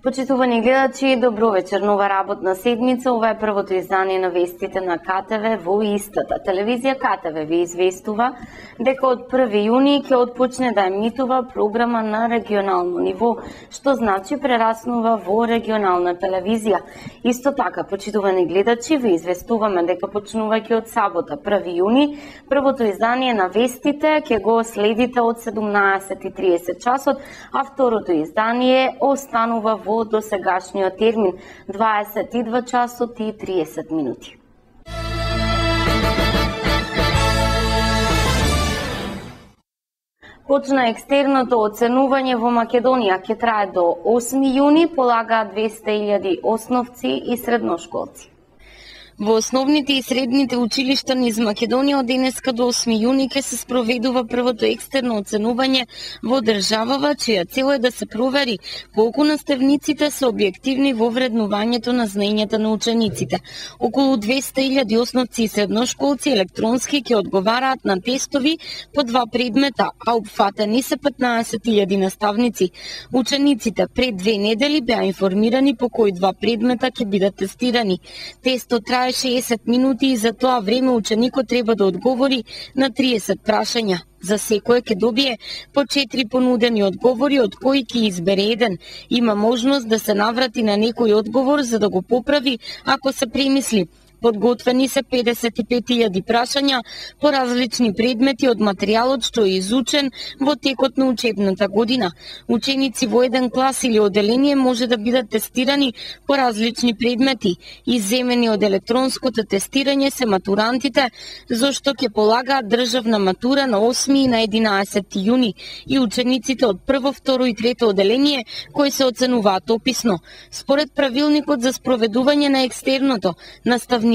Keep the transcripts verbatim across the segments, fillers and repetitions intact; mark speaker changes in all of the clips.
Speaker 1: Почитувани гледачи, добро вечер. Нова работна седмица. Ова е првото издание на вестите на КТВ во истата. Телевизија КТВ ви известува дека од први јуни ќе отпочне да емитува програма на регионално ниво, што значи прераснува во регионална телевизија. Исто така, почитувани гледачи, ви известуваме дека почнувајќи од сабота први јуни, првото издание на вестите ќе го следите од седумнаесет и триесет часот, а второто издание останува во досегашниот термин дваесет и два часот и триесет минути. Почна екстерното оценување во Македонија, ќе трае до осми јуни, полагаат двесте илјади основци и средношколци. Во основните и средните училишта низ Македонија од денеска до осми јуни ќе се спроведува првото екстерно оценување во државава, чија цел е да се провери колку наставниците се објективни во вреднувањето на знаењата на учениците. Околу двесте илјади основци и средношколци електронски ќе одговараат на тестови по два предмета, а опфатени се петнаесет илјади наставници. Учениците пред две недели беа информирани по кои два предмета ќе бидат тестирани. Тестот трае шеесет минути и за тоа време ученикот треба да одговори на триесет прашања. За секој ќе добие по четири понудени одговори, од кои ќе избере еден. Има можност да се наврати на некој одговор за да го поправи ако се премисли. Подготвени се педесет и пет илјади прашања по различни предмети од материјалот што е изучен во текот на учебната година. Ученици во еден клас или оделение може да бидат тестирани по различни предмети. Изземени од електронското тестирање се матурантите, зашто ќе полагаат државна матура на осми и на единаесети јуни и учениците од прво, второ и трето оделение кои се оценуваат описно. Според правилникот за спроведување на екстерното, наставниците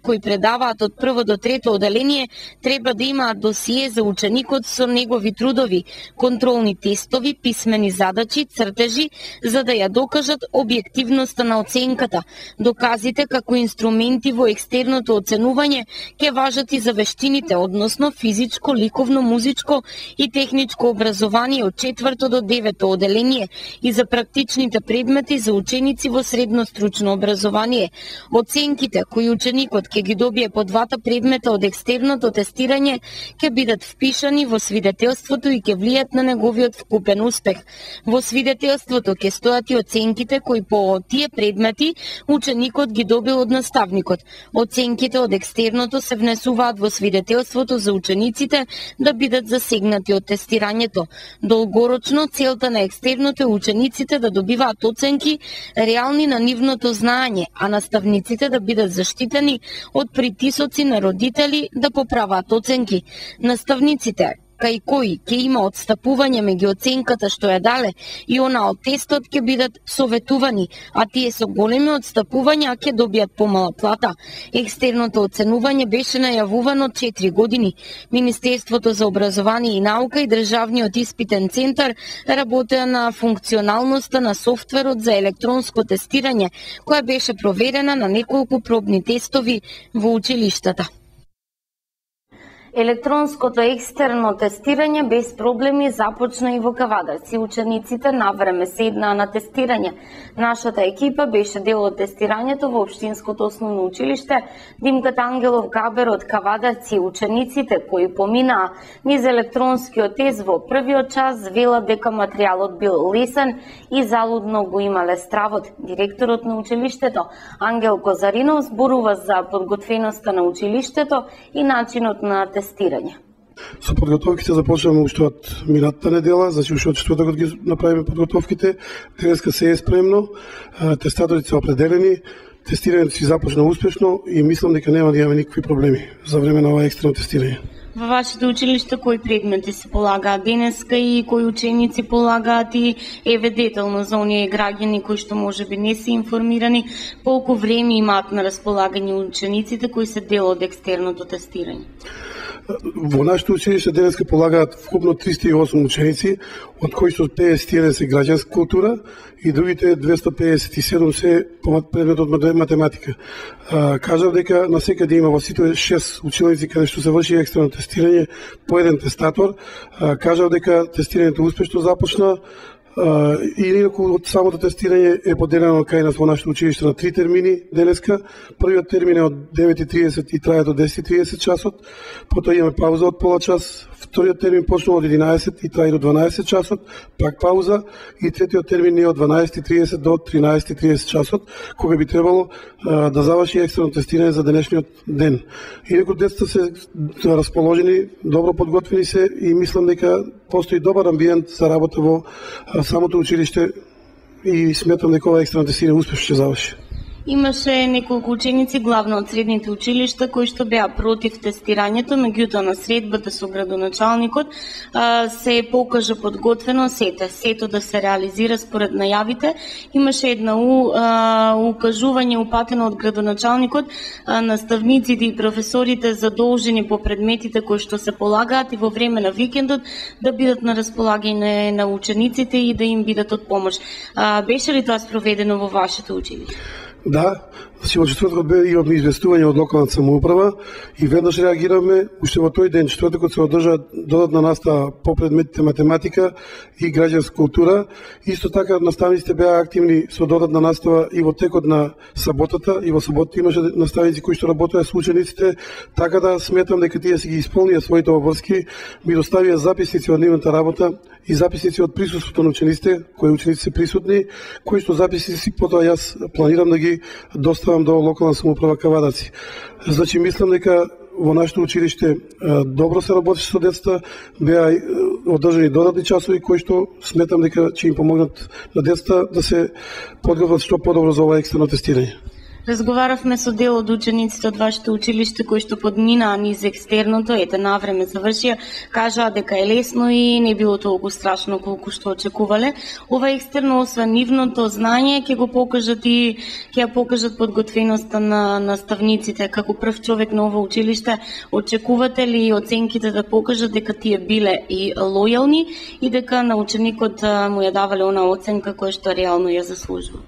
Speaker 1: кои предаваат од прво до трето оделение треба да имаат досие за ученикот со негови трудови, контролни тестови, писмени задачи, цртежи, за да ја докажат објективноста на оценката. Доказите како инструменти во екстерното оценување ќе важат и за вештините, односно физичко, ликовно, музичко и техничко образование од четврто до девето оделение и за практичните предмети за ученици во средно стручно образование. Оценките кои ученикот ќе ги добие по двата предмета од екстерното тестирање ќе бидат впишани во свидетелството и ќе влијат на неговиот вкупен успех. Во свидетелството ќе стојат и оценките кои по тие предмети ученикот ги добил од наставникот. Оценките од екстерното се внесуваат во свидетелството за учениците да бидат засегнати од тестирањето. Долгорочно целта на екстерното е учениците да добиваат оценки реални на нивното знаење, а наставниците да бидат заштитени од притисоци на родители да поправаат оценки. Наставниците кај кои ќе има отстапување меѓу оценката што ја дале и она од тестот ќе бидат советувани, а тие со големи отстапувања ќе добијат помала плата. Екстерното оценување беше најавувано четири години. Министерството за образование и наука и Државниот испитен центар работеа на функционалноста на софтверот за електронско тестирање, која беше проверена на неколку пробни тестови во училиштата. Електронското екстерно тестирање без проблеми започна и во Кавадарци. Учениците навреме седнаа на тестирање. Нашата екипа беше дел од тестирањето во Општинското основно училиште Димката Ангелов Габер од Кавадарци. Учениците кои поминаа низ електронскиот тест во првиот час велат дека материјалот бил лесен и залудно го имале стравот. Директорот на училиштето Ангел Козаринов зборува за подготвеноста на училиштето и начинот на тестирање. Тестирање.
Speaker 2: Со подготовките започнавме уште од минатата недела, значи уште од четвртокот ги направиме подготовките. Денеска се е спремно, тестаторите се определени, тестирањето си започна успешно и мислам дека нема да имаме никакви проблеми за време на ова екстерно тестирање.
Speaker 1: Во вашето училиште кои предмети се полагаат денеска и кои ученици полагаат и еве детално за оние граѓани кои што можеби не се информирани, колку време имаат на располагање учениците кои се дел од екстерното тестирање?
Speaker 2: Во нашето училиште денеска полагаат вкупно триста и осум ученици, од кои што педесет и еден се граѓанска култура и другите двесте педесет и седум се по предмет од математика. Кажав дека на секаде има во сите шест училници каде што се врши екстерно тестирање по еден тестатор. Кажав дека тестирањето успешно започна. и инаку од самото тестирање е поделено кај нас во нашето училиште на три термини денеска. Првиот термин е од девет и тридесет и трае до десет и тридесет часот, потоа имаме пауза од пола час. Вториот термин почнува од единаесет и трае до дванаесет часот, пак пауза, и третиот термин е од дванаесет и тридесет до тринаесет и тридесет часот, кога би требало а, да заврши екстерно тестирање за денешниот ден. Инаку децата се расположени, добро подготвени се и мислам дека постои добар амбиент за работа во а, самото училиште и сметам дека ова екстерно тестирање успешно ќе заврши.
Speaker 1: Имаше неколку ученици, главно од средните училишта, кои што беа против тестирањето, меѓутоа на средбата со градоначалникот се покажа подготвено сете, сето да се реализира според најавите. Имаше една укажување упатено од градоначалникот, наставниците и професорите задолжени по предметите кои што се полагаат и во време на викендот да бидат на располагање на учениците и да им бидат од помош. Беше ли тоа спроведено во вашето училиште?
Speaker 2: Да, значи во четвртокот бе имавме известување од локалната самоуправа и веднаш реагиравме. Уште во тој ден, четвртокот, се одржа додатна настава по предметите математика и граѓанска култура. Исто така наставниците беа активни со додатна настава и во текот на саботата, и во саботата имаше наставници кои што работеа со учениците, така да сметам дека тие си ги исполнија своите обврски, ми доставија записници од нивната работа и записници од присуството на учениците, кои ученици се присутни, кои што записници потоа јас планирам да ги доставам до локална самоуправа Кавадаци. Значи мислам дека во нашето училиште добро се работи со децата, беа одржани додатни часови кои што сметам дека ќе им помогнат на децата да се подготват што подобро за ова екстерно тестирање.
Speaker 1: Разговаравме со дел од учениците од вашето училиште кои што подминаа низ екстерното, ете навреме завршија, кажаа дека е лесно и не било толку страшно колку што очекувале. Ова екстерно, освен нивното знање, ќе го покажат и ќе ја покажат подготвеноста на наставниците. Како прв човек на ова училиште, очекувате ли оценките да покажат дека тие биле и лојални и дека на ученикот му ја давале она оценка која што реално ја заслужува?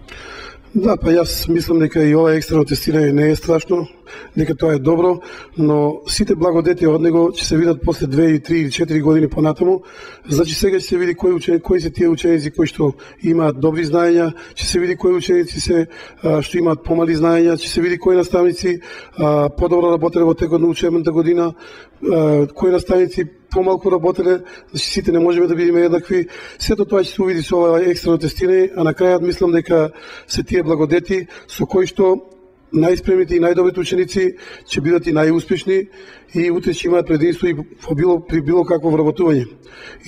Speaker 2: Да, па јас мислам дека и ова екстерно тестирање не е страшно, дека тоа е добро, но сите благодети од него ќе се видат после две, три или четири години понатаму. Значи сега ќе се види кои ученици, кои се тие ученици кои што имаат добри знаења, ќе се види кои ученици се а, што имаат помали знаења, ќе се види кои наставници а, подобро работеле во текот на учебната година, а, кои наставници помалку работеле, значи сите не можеме да бидеме еднакви. Сето тоа ќе се увиди со ова екстерно тестирање, а на крајот мислам дека се тие благодети со кои што најспремните и најдобрите ученици ќе бидат и најуспешни и утре ќе имаат предимство и во било, при било какво вработување.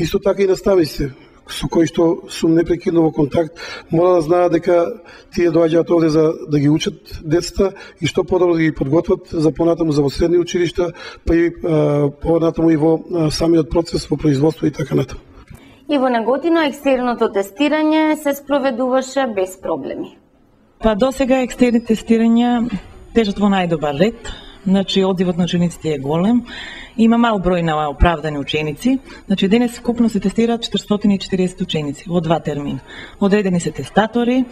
Speaker 2: Исто така и наставниците со кои што сум непрекидно во контакт, мора да знаат дека тие доаѓаат овде за да ги учат децата и што подобро да ги подготват за понатаму за во средни училишта, па и а, понатаму и во а, самиот процес во производство и така натаму.
Speaker 1: И во Неготино екстерното тестирање се спроведуваше без проблеми.
Speaker 3: Па досега екстерни тестирања тежат во најдобар ред. Значи, одзивот на учениците е голем. Има мал број на оправдани ученици. Значи, денес вкупно се тестираат четиристотини и четириесет ученици во два термина. Одредени се тестатори,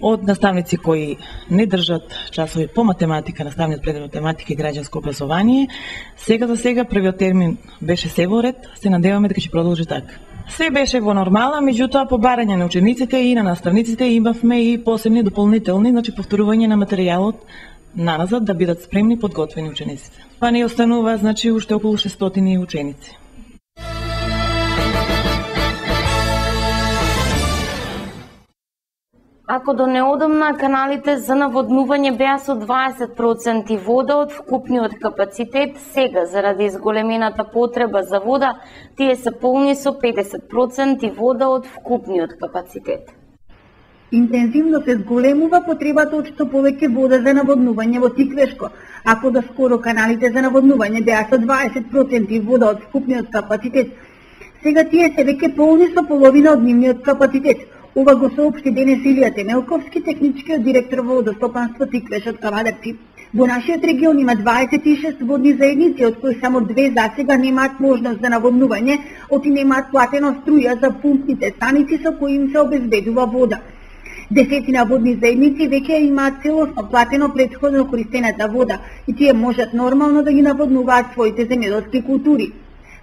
Speaker 3: од наставници кои не држат часови по математика, наставниот предмет математика и граѓанско образование. Сега за сега првиот термин беше се во ред, се надеваме дека ќе продолжи така. Се беше во нормала, меѓутоа по барање на учениците и на наставниците имавме и посебни дополнителни, значи повторување на материјалот наназад да бидат спремни подготвени учениците. Па не останува, значи, уште околу шестстотини ученици.
Speaker 1: Ако до неодамна каналите за наводнување беа со дваесет проценти вода од вкупниот капацитет, сега заради изголемената потреба за вода, тие се полни со педесет проценти вода од вкупниот капацитет.
Speaker 4: Интензивно се зголемува потребата од што повеќе вода за наводнување во Тиквешко. Ако до скоро каналите за наводнување беа со дваесет проценти вода од вкупниот капацитет, сега тие се веќе полни со половина од нивниот капацитет. Ова го соопшти денес Илија Темелковски, техничкиот директор во водостопанство Тиквеш од Кавадаци. Во нашиот регион има дваесет и шест водни заедници, од кои само две засега немаат можност за наводнување, оти немаат платено струја за пумпните станици со кои им се обезбедува вода. Десетина водни заедници веќе имаат целосно платено претходно користената вода и тие можат нормално да ги наводнуваат своите земјоделски култури.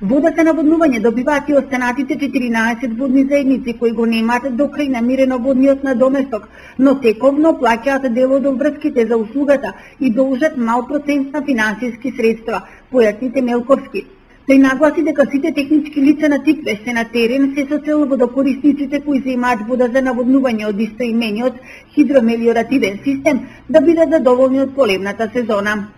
Speaker 4: Вода за наводнување добиваат и останатите четиринаесет водни заедници кои го немаат до крај намирено водниот надоместок, но тековно плаќаат дел од обврските за услугата и должат мал процент на финансиски средства, појасни Темелковски. Тој нагласи дека сите технички лица на Тиквеш се на терен се со цел водокорисниците кои земаат вода за наводнување од истоимениот хидромелиоративен систем да бидат задоволни од поливната сезона.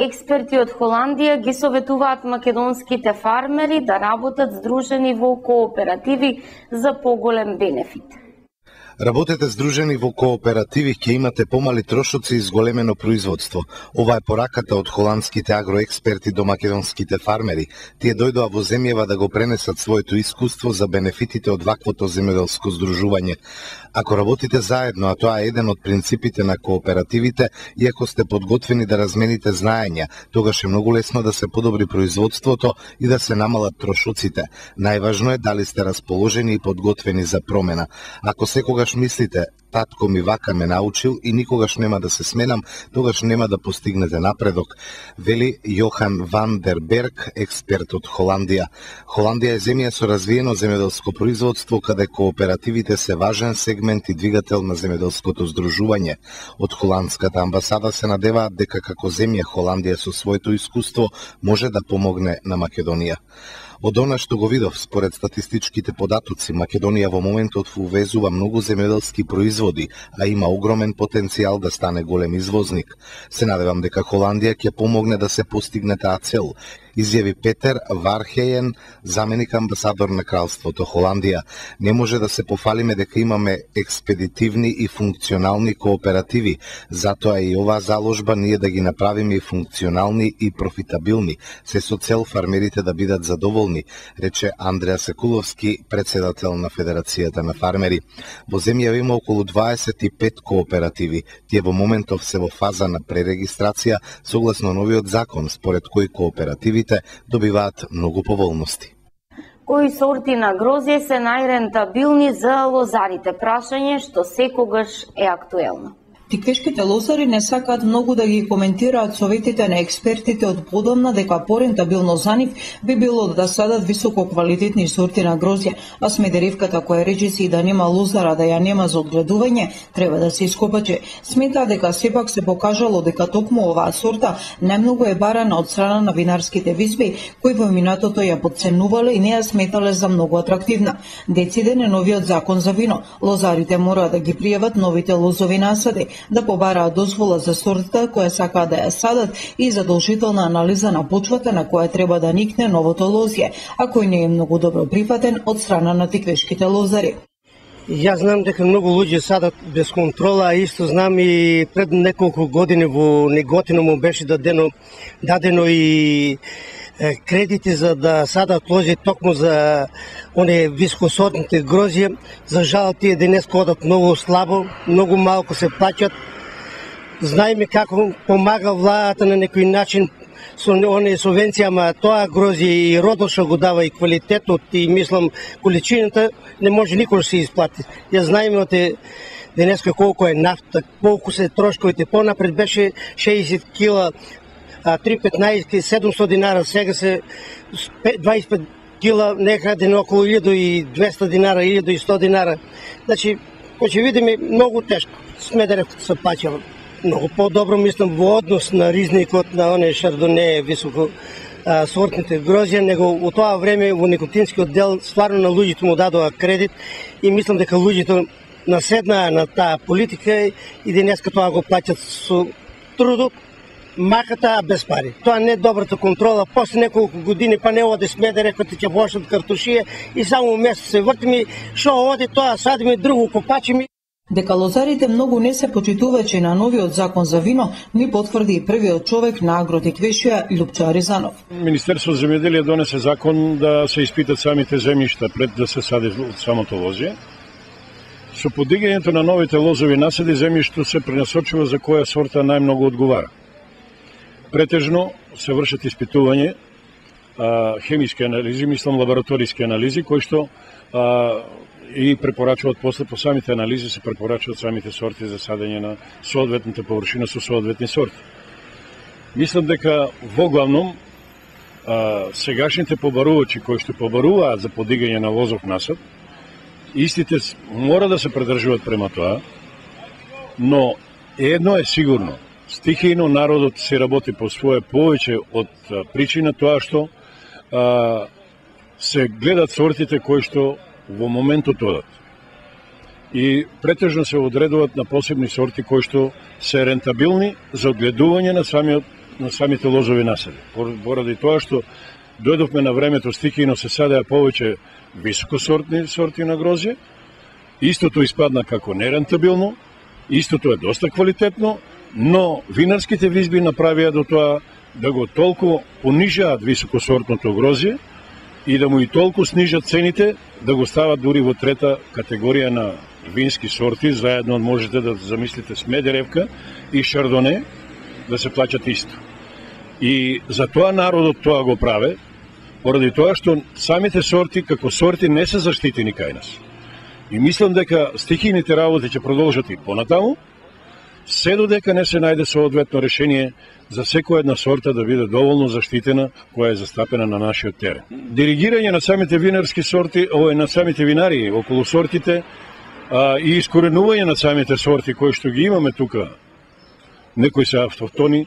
Speaker 1: Експерти од Холандија ги советуваат македонските фармери да работат здружени во кооперативи за поголем бенефит.
Speaker 5: Работете здружени во кооперативи, ќе имате помали трошоци и зголемено производство. Ова е пораката од холандските агроексперти до македонските фармери. Тие дојдоа во земјава да го пренесат своето искуство за бенефитите од ваквото земјоделско здружување. Ако работите заедно, а тоа е еден од принципите на кооперативите, и ако сте подготвени да размените знаења, тогаш е многу лесно да се подобри производството и да се намалат трошоците. Најважно е дали сте расположени и подготвени за промена. Ако секогаш мислите, татко ми вака ме научил и никогаш нема да се сменам, тогаш нема да постигнете напредок, вели Јохан Ван дер Берг, експерт од Холандија. Холандија е земја со развиено земјоделско производство, каде кооперативите се важен сегмент и двигател на земјоделското здружување. Од холандската амбасада се надеваат дека како земја Холандија со своето искуство може да помогне на Македонија. Од она што го видов, според статистичките податоци, Македонија во моментот увезува многу земјоделски производи, а има огромен потенцијал да стане голем извозник. Се надевам дека Холандија ќе помогне да се постигне таа цел, изјави Петер Вархејен, заменик амбасадор на Кралството Холандија. Не може да се пофалиме дека имаме експедитивни и функционални кооперативи, затоа и оваа заложба ние да ги направиме и функционални и профитабилни, се со цел фармерите да бидат задоволни, рече Андреа Секуловски, председател на Федерацијата на фармери. Во земјава има околу дваесет и пет кооперативи. Тие во моментов се во фаза на пререгистрација согласно новиот закон, според кој кооперативите добиваат многу поволности.
Speaker 1: Кои сорти на грозје се најрентабилни за лозарите? Прашање што секогаш е актуелно.
Speaker 6: Тиквешките лозари не сакаат многу да ги коментираат советите на експертите од подомна дека порентабилно за нив би било да садат високо квалитетни сорти на грозје, а Смедеревката која речиси и да нема лозара да ја нема за одгледување, треба да се ископаче. Смета дека сепак се покажало дека токму оваа сорта најмногу е барана од страна на винарските визби, кои во минатото ја подценувале и не ја сметале за многу атрактивна. Дециден е новиот закон за вино. Лозарите мора да ги пријават новите лозови насади, да побараат дозвола за сортата која сакаат да ја садат и задолжителна анализа на почвата на која треба да никне новото лозје, а кој не е многу добро прифатен од страна на тиквешките лозари.
Speaker 7: Јас знам дека многу луѓе садат без контрола, а исто знам и пред неколку години во Неготино му беше дадено, дадено и кредити за да садат лози токму за оние високосортните грозје. За жал тие денес одат многу слабо, многу малку се плаќат. Знаеме како помага владата на некој начин со оние субвенции, ама тоа грозје и родот што го дава и квалитетот и мислам количината не може никош се исплати. Ја знаеме од денеска колку е нафта, колку се трошковите. Понапред беше шеесет кила три петнаесет седумстотини динара, сега се дваесет и пет кила некаде на околу илјада и двесте динара, илјада и сто динара. Значи, ќе видиме многу тешко. Смедеревката се плаќа многу по-добро, мислам, во однос на ризникот на оние шардоне високо а, сортните грозје, него во тоа време во никотинскиот дел стварно на луѓето му дадоа кредит и мислам дека луѓето наседнаа на таа политика и денеска тоа го плаќат со трудот, маката без пари. Тоа не е добрата контрола. После неколку години па не оди Смедеревката, ќе почнат картушија и само месец се вртиме, шо оди тоа, садиме друго, копачиме.
Speaker 6: Дека лозарите многу не се почитувачи на новиот закон за вино, ни потврди и првиот човек на Агротиквешија Лјупчо Аризанов.
Speaker 8: Министерство за земјоделие донесе закон да се испитат самите земјишта пред да се сади самото лозје. Со подигањето на новите лозови насади земјишто се пренасочува за која сорта најмногу одговара. Претежно се вршат испитување, а, хемиски анализи, мислам лабораториски анализи, кои што а, и препорачуваат после по самите анализи се препорачуваат самите сорти за садење на соодветната површина со соодветни сорти. Мислам дека во главном а, сегашните побарувачи кои што побаруваат за подигање на лозов насад, истите мора да се придржуваат према тоа, но едно е сигурно, стихијно народот се работи по своje повеќе од причина тоа што а, се гледат сортите кои што во моментот одат. И претежно се одредуваат на посебни сорти кои што се рентабилни за одгледување на самиот на самите лозови насади. Поради тоа што дојдовме на времето стихијно се садеа повеќе високосортни сорти на грозје, истото испадна како нерентабилно, истото е доста квалитетно, но винарските визби направија до тоа да го толку понижаат високосортното грозје и да му и толку снижат цените, да го стават дури во трета категорија на вински сорти, заедно можете да замислите Смедеревка и Шардоне, да се плаќат исто. И за тоа народот тоа го праве, поради тоа што самите сорти како сорти не се заштитени кај нас. И мислам дека стихијните работи ќе продолжат и понатаму, се додека не се најде соодветно решение за секоја една сорта да биде доволно заштитена која е застапена на нашиот терен. Диригирање на самите винарски сорти, овој на самите винари околу сортите а, и искоренување на самите сорти кои што ги имаме тука, некои се автохтони,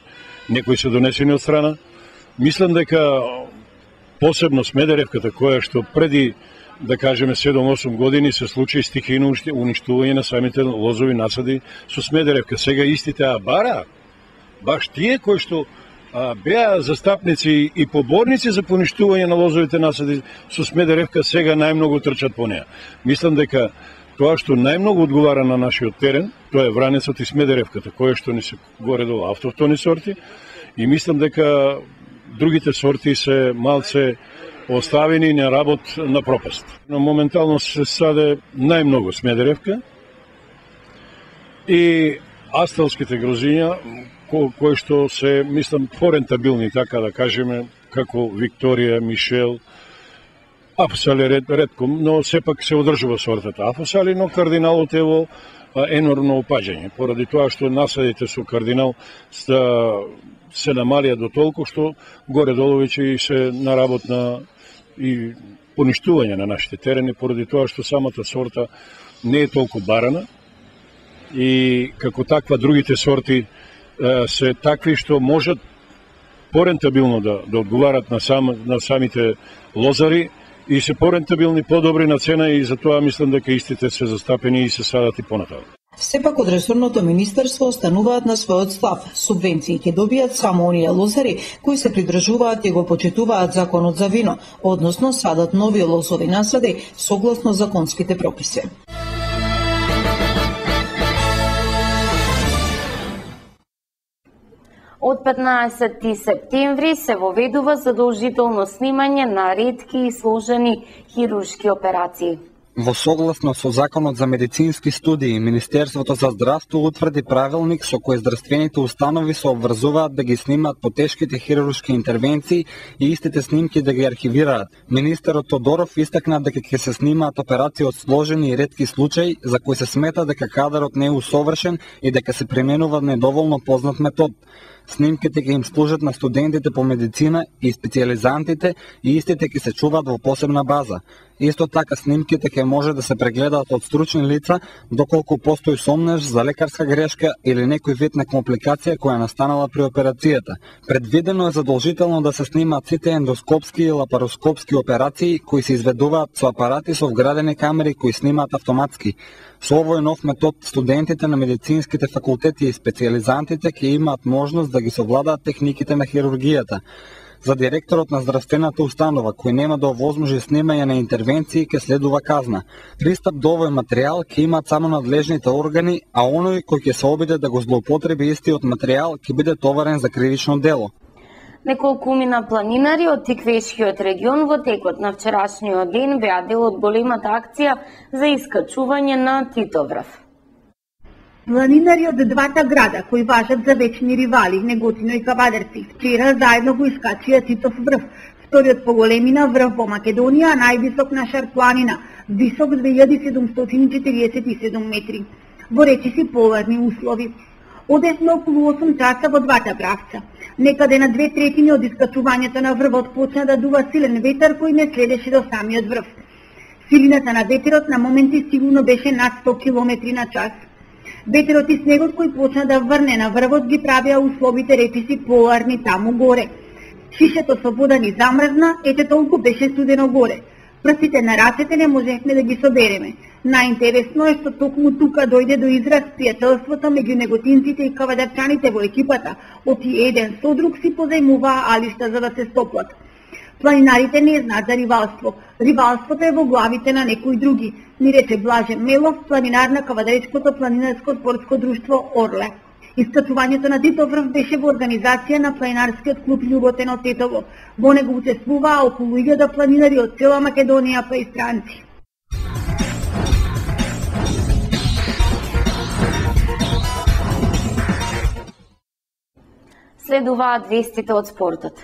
Speaker 8: некои се донесени од страна. Мислам дека посебно Смедеревката, која што преди, да кажеме, седум-осум години се случи стихијно уништување на самите лозови насади со Смедеревка. Сега истите а бара, баш тие кои што а, беа застапници и поборници за поништување на лозовите насади со Смедеревка, сега најмногу трчат по неа. Мислам дека тоа што најмногу одговара на нашиот терен, тоа е вранецот и Смедеревката, која што ни се горе до автохтони сорти, и мислам дека другите сорти се малце оставени на работ на пропаст. Но моментално се саде најмногу Смедеревка и асталските грозиња, ко, кои што се, мислам, порентабилни, така да кажеме, како Викторија, Мишел, Афосали ред, редко, но сепак се одржува сортата Афосали, но кардиналот е во енормно опаѓање, поради тоа што насадите со кардинал се, се намалија до толку што горе-долу веќе се на работ на и поништување на нашите терени, поради тоа што самата сорта не е толку барана и како таква другите сорти е, се такви што можат порентабилно да, да одговарат на, сам, на самите лозари и се порентабилни, подобри на цена, и затоа мислам дека истите се застапени и се садат и понатаму.
Speaker 6: Сепак од ресорното министерство остануваат на својот став. Субвенции ќе добијат само оние лозари кои се придржуваат и го почитуваат законот за вино, односно садат нови лозови насади согласно законските прописи.
Speaker 1: Од петнаесети септември се воведува задолжително снимање на ретки и сложени хируршки операции.
Speaker 9: Во согласно со Законот за медицински студии, Министерството за здравство утврди правилник со кој здравствените установи се обврзуваат да ги снимаат потешките хируршки интервенции и истите снимки да ги архивираат. Министерот Тодоров истакна дека ќе се снимаат операции од сложени и ретки случаи за кои се смета дека кадарот не е усовршен и дека се применува недоволно познат метод. Снимките ќе им служат на студентите по медицина и специјализантите и истите ќе се чуваат во посебна база. Исто така снимките ќе може да се прегледаат од стручни лица доколку постои сомнеж за лекарска грешка или некој вид на компликација која настанала при операцијата. Предвидено е задолжително да се снимаат сите ендоскопски и лапароскопски операции кои се изведуваат со апарати со вградени камери кои снимаат автоматски. Со овој нов метод, студентите на медицинските факултети и специјализантите ќе имаат можност да ги совладаат техниките на хирургијата. За директорот на здравствената установа, кој нема да овозможи снимање на интервенции, ќе следува казна. Пристап до овој материјал ќе имаат само надлежните органи, а оној кој ќе се обиде да го злоупотреби истиот материјал ќе биде товарен за кривично дело.
Speaker 1: Неколкумина планинари од Тиквешкиот регион во текот на вчерашниот ден беа дел од големата акција за искачување на Титоврв.
Speaker 4: Планинари од двата града, кои важат за вечни ривали, Неготино и Кавадарци, вчера заедно го искачија Титов врв, вториот по големина врв во Македонија, а највисок на Шар планина, висок две илјади седумстотини четириесет и седум метри. Во речиси поларни услови. Одесме околу осум часа во двата правца. Некаде на две третини од искачувањето на врвот почна да дува силен ветар кој не следеше до самиот врв. Силината на ветерот на моменти сигурно беше над сто километри на час. Ветерот и снегот кој почна да врне на врвот ги правија условите речиси поларни таму горе. Шишето со вода ни замрзна, ете толку беше студено горе. Прстите на рацете не можехме да ги собереме. Најинтересно е што токму тука дојде до израз пријателството меѓу неготинците и кавадарчаните во екипата, оти еден со друг си позајмуваа алишта за да се стоплат. Планинарите не знаат за ривалство. Ривалството е во главите на некои други, ни рече Блаже Мелов, планинар на Кавадаречкото планинарско спортско друштво Орле. Искачувањето на Титов врв беше во организација на планинарскиот клуб Љуботено Тетово. Во него учествуваа околу илјада планинари од цела Македонија па и странци.
Speaker 1: Следуваат вестите од спортот.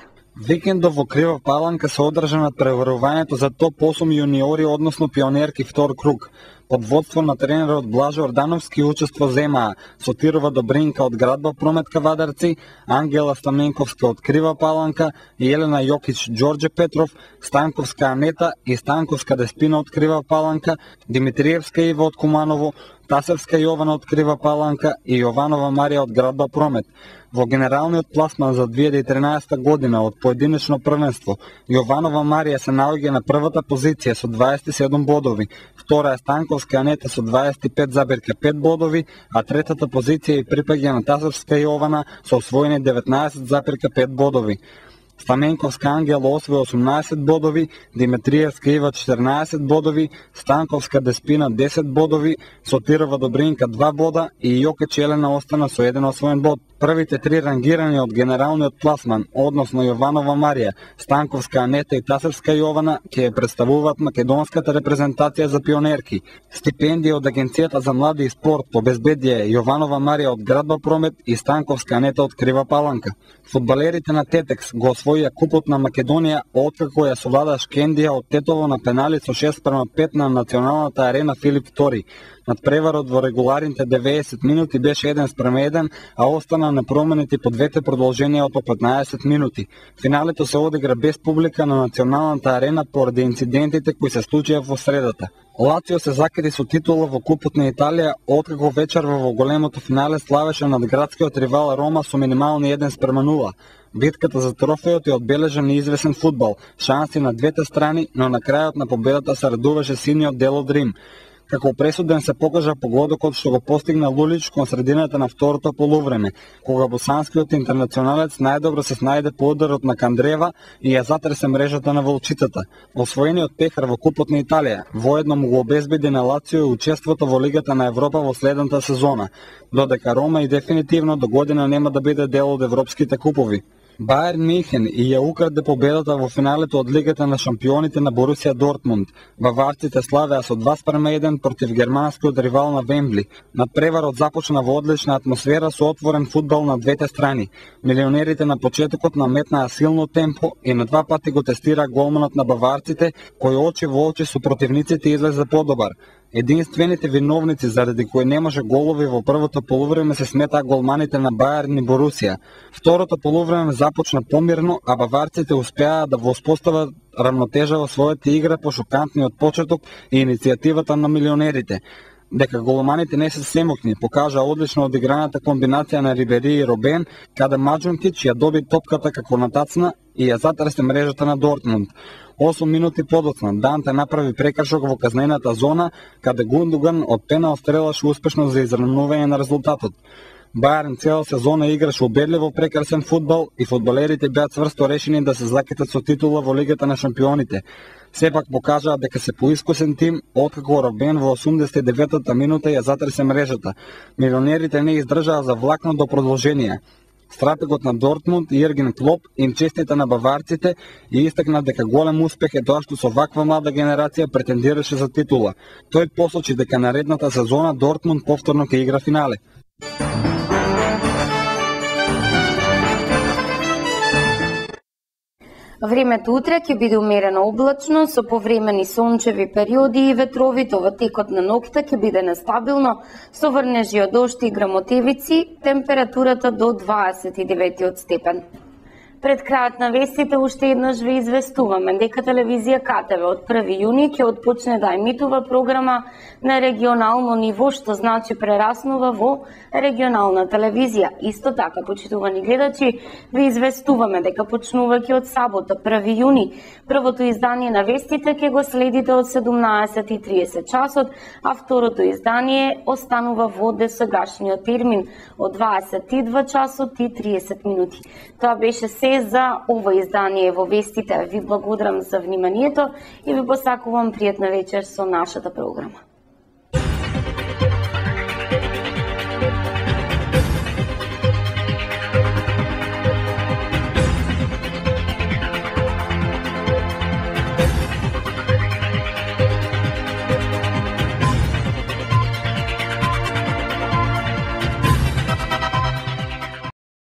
Speaker 9: Викендов во Крива Паланка се одржа над преварувањето за топ осум јуниори, односно пионерки втор круг. Под водство на тренерот Блажо Ордановски учество земаа Сотирова Добринка од Градба Промет Кавадарци, Ангела Стаменковска од Крива Паланка, Елена Јокич Ѓорѓе Петров, Станковска Анета и Станковска Деспина од Крива Паланка, Димитриевска Ива од Куманово, Тасевска Јована од Крива Паланка и Јованова Марија од Градба Промет. Во генералниот пласман за две илјади и тринаесетта година од поединечно првенство, Јованова Марија се наоѓа на првата позиција со дваесет и седум бодови, втора е Станковска Анета со дваесет и пет запирка пет бодови, а третата позиција и припаѓа на Тасевска Јована со освоени деветнаесет запирка пет бодови. Стаменковска Ангела освои осумнаесет бодови, Димитриевска Ива четрнаесет бодови, Станковска Деспина десет бодови, Сотирова Добринка два бода и Јокич Елена остана со еден освоен бод. Првите три рангирани од генералниот пласман, односно Јованова Марија, Станковска Анета и Тасевска Јована, ќе представуваат македонската репрезентација за пионерки. Стипендија од Агенцијата за млади и спорт обезбедија Јованова Марија од Градба Промет и Станковска Анета од Крива Паланка. Фудбалерите на Тетекс го освоија купот на Македонија откако ја совлада Шкендија од Тетово на пенали со шест спрема пет на националната арена Филип втори. Надпреварот во регуларните деветдесет минути беше еден спрема еден, а остана непроменети по двете продолженија од по петнаесет минути. Финалето се одигра без публика на националната арена поради инцидентите кои се случија во средата. Лацио се закри со титула во Купот на Италија, откако вечерва во големото финале славеше над градскиот ривал Рома со минимални еден спрема нула. Битката за трофејот е одбележа неизвесен фудбал, шанси на двете страни, но на крајот на победата се радуваше синиот дел од Рим. Како пресуден се покажа погодокот што го постигна Лулич кон средината на второто полувреме, кога босанскиот интернационалец најдобро се снајде по ударот на Кандрева и ја затресе мрежата на волчицата. Освоениот пехар во Купот на Италија воедно му го обезбеди на Лацио и учеството во Лигата на Европа во следната сезона, додека Рома и дефинитивно до година нема да биде дел од европските купови. Бајерн Мюнхен и ја украде победата во финалето од Лигата на шампионите на Борусија Дортмунд. Баварците славеа со два спрема еден против германскиот ривал на Вембли. Надпреварот започна во одлична атмосфера со отворен фудбал на двете страни. Милионерите на почетокот наметнаа силно темпо и на два пати го тестира голманот на баварците, кој очи во очи со противниците излезе подобар. Единствените виновници заради кои немаше голови во првото полувреме се сметаа голманите на Бајерн и Борусија. Второто полувреме започна помирно, а баварците успеаа да воспостават рамнотежа во својата игра по шокантниот почеток и иницијативата на милионерите. Дека голманите не се семокни, покажа одлично одиграната комбинација на Рибери и Робен, каде Маджункич ја доби топката како натацна и ја затресе мрежата на Дортмунд. осум минути подоцна Данте направи прекршок во казнената зона, каде Гундоган од пенал стрелаше успешно за изравнување на резултатот. Бајерн цела сезона играше убедливо прекрасен фудбал и фудбалерите беа цврсто решени да се закитат со титула во Лигата на шампионите. Сепак покажаа дека се поискусен тим, откако Робен во осумдесет и деветата минута ја затресе мрежата. Милионерите не издржаа за влакно до продолженија. Стратегот на Дортмунд Јерген Клоп им честита на баварците и истакна дека голем успех е тоа што со ваква млада генерација претендираше за титула. Тој посочи дека наредната сезона Дортмунд повторно ќе игра финале.
Speaker 1: Времето утре ќе биде умерено облачно со повремени сончеви периоди и ветровито во текот на ноќта ќе биде нестабилно со врнежи од дожд и грамотевици, температурата до дваесет и девети степен. Пред крајот на вестите уште еднаш ве известуваме дека телевизија КТВ од први јуни ќе отпочне да емитува програма на регионално ниво, што значи прераснува во регионална телевизија. Исто така, почитувани гледачи, ве известуваме дека почнувајќи од сабота први јуни, првото издание на вестите ќе го следите од седумнаесет и триесет часот, а второто издание останува во досегашниот термин од дваесет и два часот и триесет минути. Тоа беше се за ова издание во вестите. Ви благодарам за вниманието и ви посакувам пријатна вечер со нашата програма.